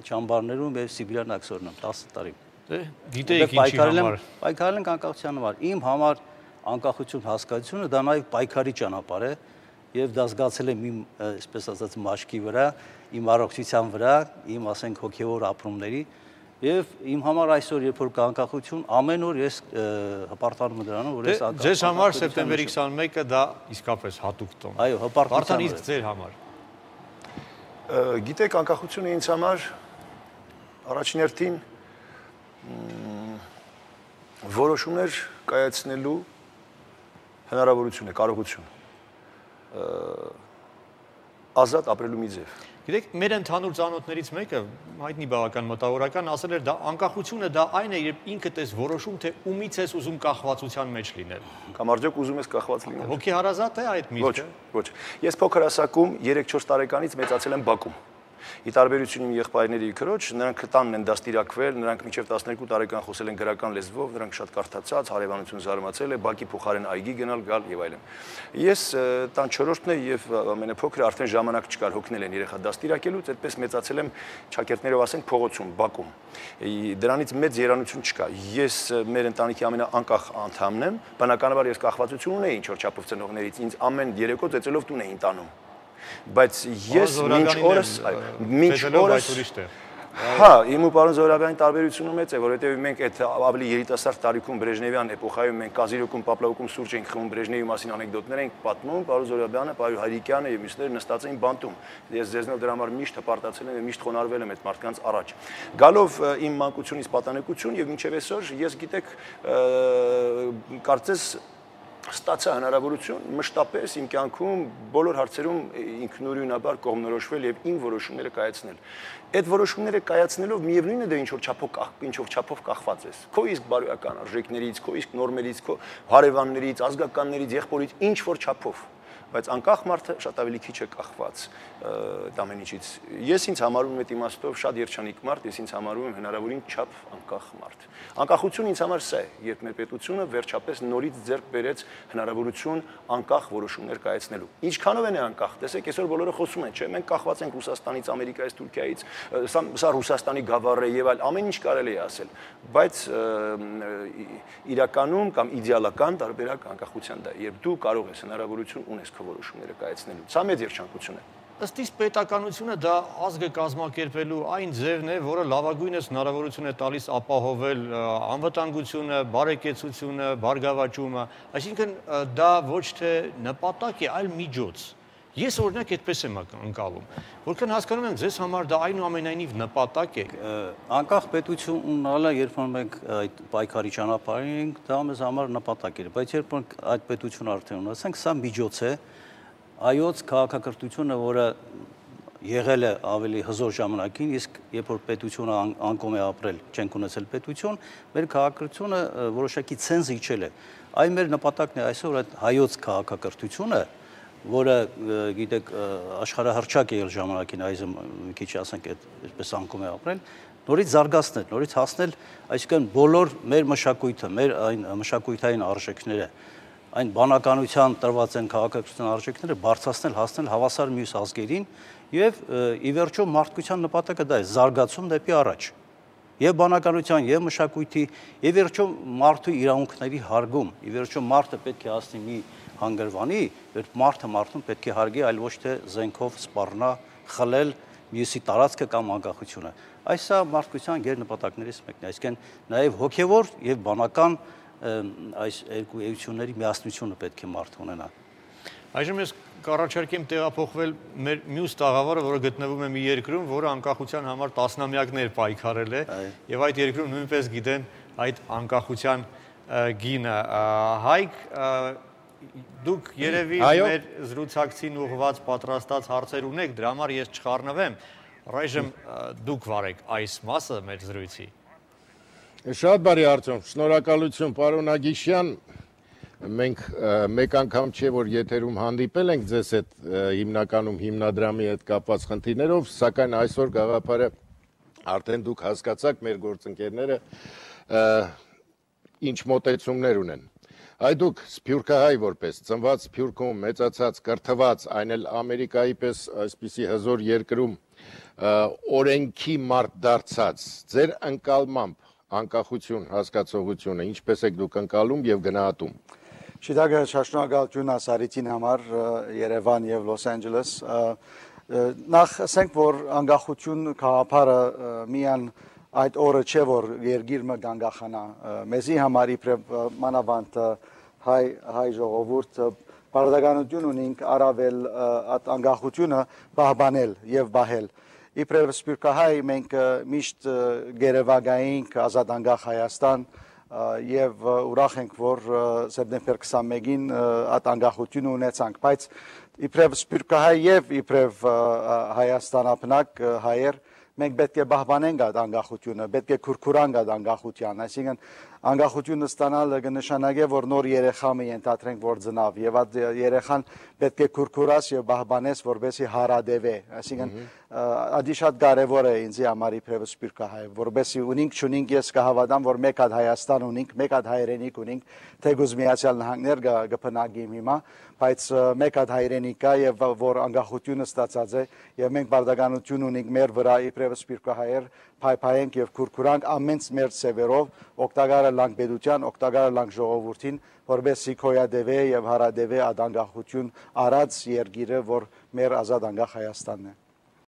Չամբարներում եւ Սիբիրյան աքսորնում 10 տարի։ Գիտեիք ինչի համար։ Պայքարել ենք անկախության համար։ Իմ համար անկախություն հասկացությունը դա նաեւ պայքարի ճանապարհ է եւ դա զգացել եմ իմ, այսպես ասած, մաշկի վրա, իմ առողջության վրա, իմ, ասենք, հոգեվոր ապրումների եւ իմ համար այսօր երբ որ կա անկախություն, ամեն օր ես հպարտանում եմ դրանով, որ ես անկախ։ Ձեզ համար սեպտեմբերի 21-ը դա իսկապես հատուկ տոն։ Այո, հպարտության։ Վարդան, իսկ ձեր համար։ Գիտեք, անկախությունը ինձ համար առաջին հերթին որոշումներ կայացնելու հնարավորություն է, կարողություն, ազատ ապրելու մի ձև։ Գիտեք, մեր ընդհանուր ծանոթներից մեկը, հայտնի բավական մտավորական, ասել էր, դա անկախությունը դա այն է, երբ ինքդ ես որոշում, թե ումից ես ուզում կախվածության մեջ լինել։ Կամ արդյոք ուզում ես կախված լինել։ Հոգեհարազատ է այդ միտքը։ Ոչ։ Ես փոքր հասակում 3-4 տարեկանից մեծացել եմ Բաքում։ Ի տարբերություն իմ եղբայրների քրոջ, նրանք տանն են դաստիարակվել, նրանք մինչև 12 տարեկան խոսել են գրական լեզվով, նրանք շատ կարդացած, հարևանություն զարմացել է, Բակի փոխարեն այգի գնալ, գալ եւ այլն։ Ես տան 4-րդն է եւ ամենափոքրը արդեն ժամանակ չկար, հոգնել են երեխա դաստիարակելուց, այդպես մեծացել եմ ճակերտներով ասենք փողոցում, Բաքում։ Դրանից մեծ երանություն չկա։ Ես մեր ընտանիքի ամենաանկախ անդամն եմ, բնականաբար ես կախվածություն ունեի ինչ որ չափով ծնողներից, ինձ ամեն երեկո ծեծելով տուն էին տանում։ Բայց ես մինչ օրս հա, իմ ու պարոն Զորաբյանի տարբերությունը մեծ է, որովհետև մենք այդ ավելի երիտասարդ տարիքում Բրեժնևյան էպոխայում մենք Կազիրյոկում, Պապլավոկում սուրճ ենք խմում, Բրեժնևի մասին անեկդոտներ ենք պատմում, պարոն Զորաբյանը, պարոն Հայրիկյանը եւ մյուսները նստած էին բանտում։ Ես ձեզնով դրա համար միշտ հպարտացել եմ եւ միշտ խոնարհվել եմ այդ մարդկանց առաջ։ Գալով իմ մանկությունից պատանեկություն եւ մինչեւ այսօր ես գիտեք կարծես ստացա հնարավորություն մշտապես իմ կյանքում բոլոր հարցերում ինքնուրույնաբար կողմնորոշվել եւ իմ որոշումները կայացնել։ Այդ որոշումները կայացնելով միևնույնն է դե ինչ որ չափով կախված ես։ Քո իսկ բարոյական արժեքներից, քո իսկ նորմերից, քո հարևաններից, ազգականներից, եղբորից ինչ որ չափով։ Բայց անկախ մարդը շատ ավելի քիչ է կախված այդ ամեն ինչից։ Ես ինձ համարում եմ այդ իմաստով շատ երջանիկ մարդ, ես ինձ համարում եմ հնարավորին չափ անկախ մարդ։ Անկախությունը ինձ համար սա է, երբ մեր պետությունը վերջապես նորից ձեռք բերեց հնարավորություն անկախ որոշումներ կայացնելու։ Ինչքանով են անկախ։ Տեսեք, այսօր բոլորը խոսում են, չէ՞, մենք կախված ենք Ռուսաստանից, Ամերիկայից, Թուրքիայից, սա Ռուսաստանի գավառ է եւ այլ, ամեն ինչ կարելի է ասել, բայց իրականում կամ իդեալական տարբերակ անկախության դա, երբ դու կարող ես հնարավորություն ունես որոշումները կայացնելու։ Սա մեծ երջանկություն է։ Ըստ իս պետականությունը դա ազգը կազմակերպելու այն ձևն է, որը լավագույնս հնարավորություն է տալիս ապահովել անվտանգությունը, բարեկեցությունը, բարգավաճումը, այսինքն դա ոչ թե նպատակ է, այլ միջոց։ Ես օրինակ այդպես եմ ընկալում, որքան հասկանում եմ, ձեզ համար դա այնուամենայնիվ նպատակ է։ Անկախ պետություն ունենալը, երբ որ մենք այդ պայքարի ճանապարհին ենք, դա մեզ համար նպատակ էր, բայց երբ որ այդ պետությունը արդեն ունեցանք, սա միջոց է այոց քաղաքակրթությունը, որը եղել է ավելի հզոր ժամանակին, իսկ երբ որ պետությունը անկում է ապրել, չենք ունեցել պետություն, մեր քաղաքակրթությունը որոշակի ցենզ իջել է։ Այն մեր նպատակն է այսօր այդ հայոց քաղաքակրթությունը, որը գիտեք աշխարհահռչակ է եղել ժամանակին, այժմ մի քիչ ասենք այդպես անկում է ապրել, նորից զարգացնել, նորից հասնել, այսինքն բոլոր մեր մշակույթը, մեր այն մշակույթային արժեքները, այն բանականության տրված են քաղաքակրթության արժեքները բարձրացնել, հասնել հավասար մյուս ազգերին եւ ի վերջո մարդկության նպատակը դա է զարգացում դեպի առաջ եւ բանականության եւ մշակույթի եւ վերջո մարդու իրավունքների հարգում ի վերջո մարդը պետք է հասնի մի հանգրվանի որ մարդուն պետք է հարգի այլ ոչ թե զենքով սպառնա խլել մյուսի տարածքը կամ անկախությունը այս է մարդկության գերնպատակներից մեկն է այսինքն նաեւ հոգեվոր եւ բանական այս երկու էությունների միասնությունը պետք է մարդ ունենա։ Այժմ ես կառաջարկեմ տեղափոխվել մեր մյուս տաղավարը, որը գտնվում է մի երկրում, որը անկախության համար տասնամյակներ պայքարել է, եւ այդ երկրում նույնպես գիտեն այդ անկախության գինը։ Հայկ, դուք երևի մեր զրուցակցին ուղղված պատրաստած հարցեր ունեք, դրա համար ես չխառնվեմ։ Այժմ դուք վարեք այս մասը մեր զրույցի։ Շատ բարի Արտյոմ, շնորհակալություն պարոն Ագիշյան, մենք մեկ անգամ չէ, որ եթերում հանդիպել ենք ձեզ հետ հիմնականում հիմնադրամի հետ կապված խնդիրներով, սակայն այսօր գաղափարը արդեն դուք հասկացաք մեր գործընկերները ինչ մոտեցումներ ունեն։ Այ դուք սփյուռքահայ որպես ծնված Սփյուռքում, մեծացած, կրթված, այն էլ Ամերիկայի պես այսպիսի հզոր երկրում օրենքի մարդ դարձած ձեր ընկալմամբ անկախություն հասկացողությունը ինչպես եք դուք ընկալում եւ գնահատում։ Շիդագը շնորհակալություն ասարիցին համար Երևան եւ Լոս Անջելես։ Նախ ասենք որ անկախություն քաղաքարը միան այդ օրը չէ որ երկիրը գանգախանա մեզի համար իբրև մանավանդ հայ ժողովուրդ բարդականություն ունենք առավել այդ անկախությունը պահպանել եւ բահել իբրև սպիրկահայ մենք միշտ գերեվագայինք ազատ անկախ Հայաստան եւ ուրախ ենք որ սեպտեմբեր 21-ին այդ անկախությունը ունեցանք բայց իբրև սպիրկահայ եւ իբրև Հայաստանապնակ հայեր մենք պետք է պահպանենք այդ անկախությունը, պետք է քուրքուրանք այդ անկախության, այսինքն անկախությունը ստանալը կնշանակի որ նոր երեխա մի ենթադրենք որ ծնավ եւ այդ երեխան պետք է քուրքուրաս եւ պահպանես որպեսզի հարադեվե, այսինքն ադի շատ կարեւոր է ինձ համար իբրև սպիրկահայ, որպեսզի ունենք չունենք ես կհավատամ որ մեկ հատ Հայաստան ունենք, մեկ հատ հայրենիք ունենք, թեգուզ Միացյալ Նահանգներ կփնագիմ հիմա, բայց մեկ հատ հայրենիք կա եւ որ անկախությունը ստացած է եւ մենք բարդականություն ունենք մեր վրա իբրև սպիրկահայեր փայփայենք եւ քուրքուրանք ամենց մեր սևերով օգտակարը լանք պետության, օգտակարը լանք ժողովրդին, որովհետեւ հոյադեվե եւ հարադեվե ադանգախություն արած երկիրը, որ մեր ազատ անկախ Հայաստանն է։